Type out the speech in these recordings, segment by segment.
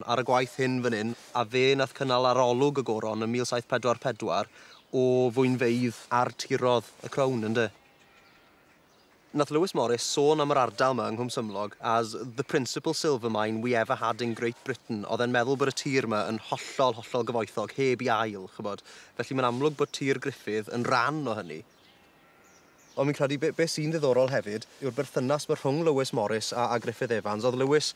Ar y gwaith hyn fan hyn, a fe nath cynnal arolwg y goron yn 1744 o fwynfeydd ar tirodd y crown, ynde? Nath Lewis Morris sôn am yr ardal yma yng Nghwm as the principal silver mine we ever had in Great Britain. Oedd e'n meddwl bod y tir yma yn hollol, hollol gyfoethog, heb i ail, chybod. Felly mae'n amlwg bod tir Gruffydd yn rhan o hynny. Ond fi'n credu be, be sy'n ddiddorol hefyd yw'r berthynas mae rhwng Lewis Morris a, a Griffith Evans. Oedd Lewis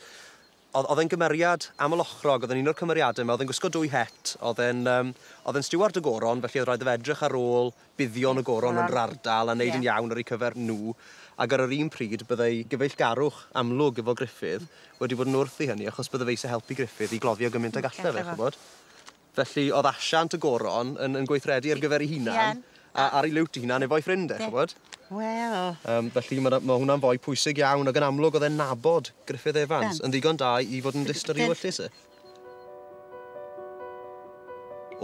oedd e'n gymeriad amlochrog, oedd e'n un o'r cymeriadau yma, oedd e'n gwisgo dwy het, oedd e'n um, oedd e'n stiward y goron, felly oedd rhaid iddo fe edrych ar ôl buddion y goron yn yr ardal a wneud yn iawn ar eu cyfer nhw. Ac ar yr un pryd, byddai gyfeillgarwch amlwg efo Gruffydd wedi bod yn wrth i hynny, achos bydde fe eisiau helpu Gruffydd i gloddio gymaint ag alle fe, ch'bod. Felly oedd asiant y goron yn, yn gweithredu ar gyfer ei hunan, a ar ei liwt ei hunan efo'i ffrind e, ch'bod. Wel. Felly mae ma hwnna'n foi pwysig iawn, ac yn amlwg oedd e'n nabod Griffith Evans yn ddigon da i fod yn dyst ar ei ewyllys e.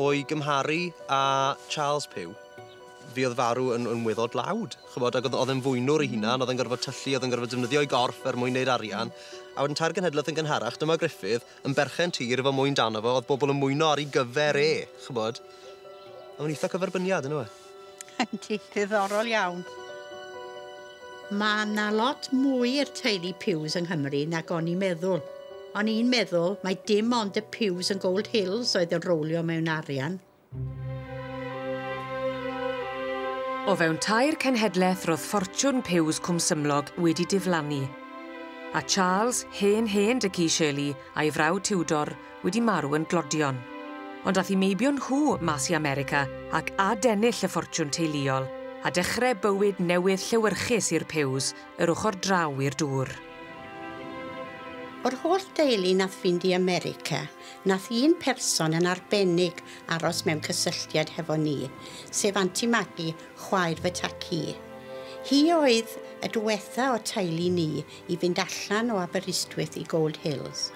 O'i gymharu â Charles Pugh, fi oedd farw yn, yn weddol dlawd, ch'bod, ac oedd e'n fwynwr ei hunan, oedd e'n gorfod tyllu, oedd e'n gorfod defnyddio ei gorff er mwyn neud arian. A wedyn tair genhedlaeth yn gynharach, dyma Gruffydd yn berchen tir efo mwyn dano fo, oedd bobl yn mwyno ar ei gyfer e, ch'bod. A mae'n eitha cyferbyniad, yndyw e? Yndi, diddorol iawn. Mae 'na lot mwy i'r teulu Pughs yng Nghymru nag o'n i'n meddwl. O'n i'n meddwl mai dim ond y Pughs yn Gold Hills oedd yn rowlio mewn arian. O fewn tair cenhedlaeth roedd ffortiwn Pughs Cwmsymlog wedi diflannu, a Charles, hen hen dy Shirley, a'i frawd Tudor wedi marw yn glodion. Ond ath i meibion nhw mas i America ac adennill y ffortiwn teuluol a dechrau bywyd newydd llewyrchus i'r Pughs yr ochr draw i'r dŵr. O'r holl deulu nath fynd i America, nath un person yn arbennig aros mewn cysylltiad hefo ni, sef Auntie Maggie, chwaer fy tacu. Hi oedd y diwetha o teulu ni i fynd allan o Aberystwyth i Gold Hills.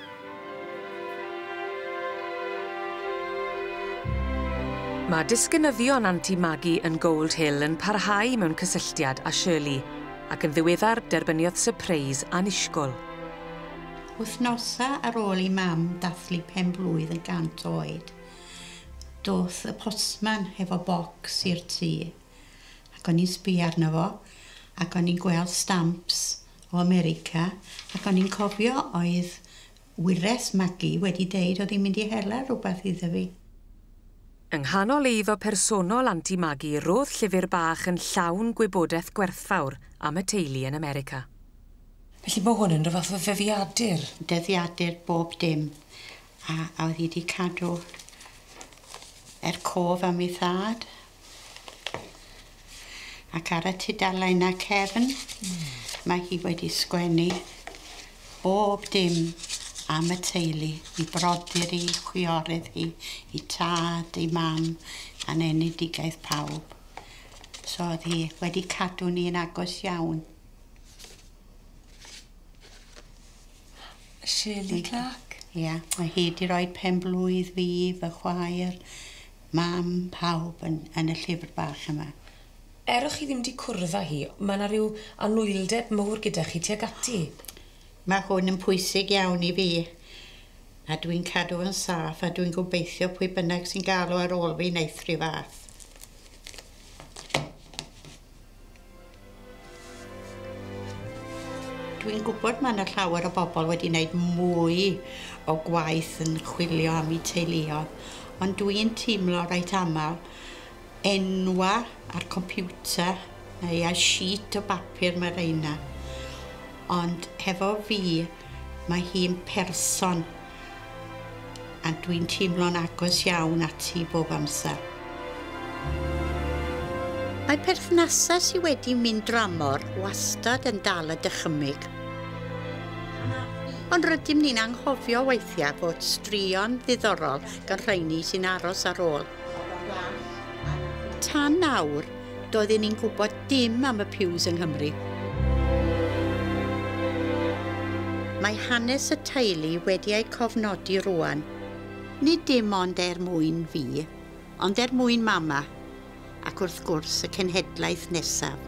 Mae disgynyddion Auntie Maggie yn Gold Hill yn parhau mewn cysylltiad â Shirley, ac yn ddiweddar derbyniodd sypreis annisgwyl. Wythnosa ar ôl i mam dathlu pen blwydd yn 100 oed, doth y postman hefo bocs i'r tŷ, ac o'n i'n sbio arno fo, ac o'n i'n gweld stamps o America, ac o'n i'n cofio oedd wyres Maggie wedi deud oedd hi'n mynd i hela rhywbeth iddo fi. Yng nghanol eiddo personol Auntie Maggie roedd llyfr bach yn llawn gwybodaeth gwerthfawr am y teulu yn America. Felly mae hwn yn rhyw fath o ddyddiadur? Dyddiadur bob dim. A oedd hi wedi cadw er cof am ei thad. Ac ar y tudalennau cefn, mae hi wedi sgwennu bob dim am y teulu, i brodyr hi, chwiorydd hi, i tad, i mam, a'n enedigaeth pawb. So oedd hi wedi cadw ni yn agos iawn. Shirley Clark? Ie, mae hi wedi rhoi pen blwydd fi, fy chwaer, mam, pawb yn, yn y llyfr bach yma. Er o'ch chi ddim wedi cwrdd â hi, mae yna rhyw anwyldeb mawr gyda chi tuag ati. Mae hwn yn pwysig iawn i fi, a dwi'n cadw yn saff, a dwi'n gobeithio pwy bynnag sy'n galw ar ôl fi wneith rhyw fath. Dwi'n gwybod mae yna llawer o bobl wedi wneud mwy o gwaith yn chwilio am eu teuluoedd, ond dwi'n teimlo reit aml enwa ar computer neu ar sheet o bapur mae reina. Ond hefo fi, mae hi'n person, a dwi'n teimlo'n agos iawn ati bob amser. Mae perthnasau sydd wedi mynd dramor wastad yn dal y dychymyg. Ond rydym ni'n anghofio weithiau fod straeon ddiddorol gan rheini sy'n aros ar ôl. Tan nawr, doedden ni'n gwybod dim am y Pughs yng Nghymru. Mae hanes y teulu wedi ei cofnodi rŵan. Nid dim ond er mwyn fi, ond er mwyn mama, ac wrth gwrs y cenhedlaeth nesaf.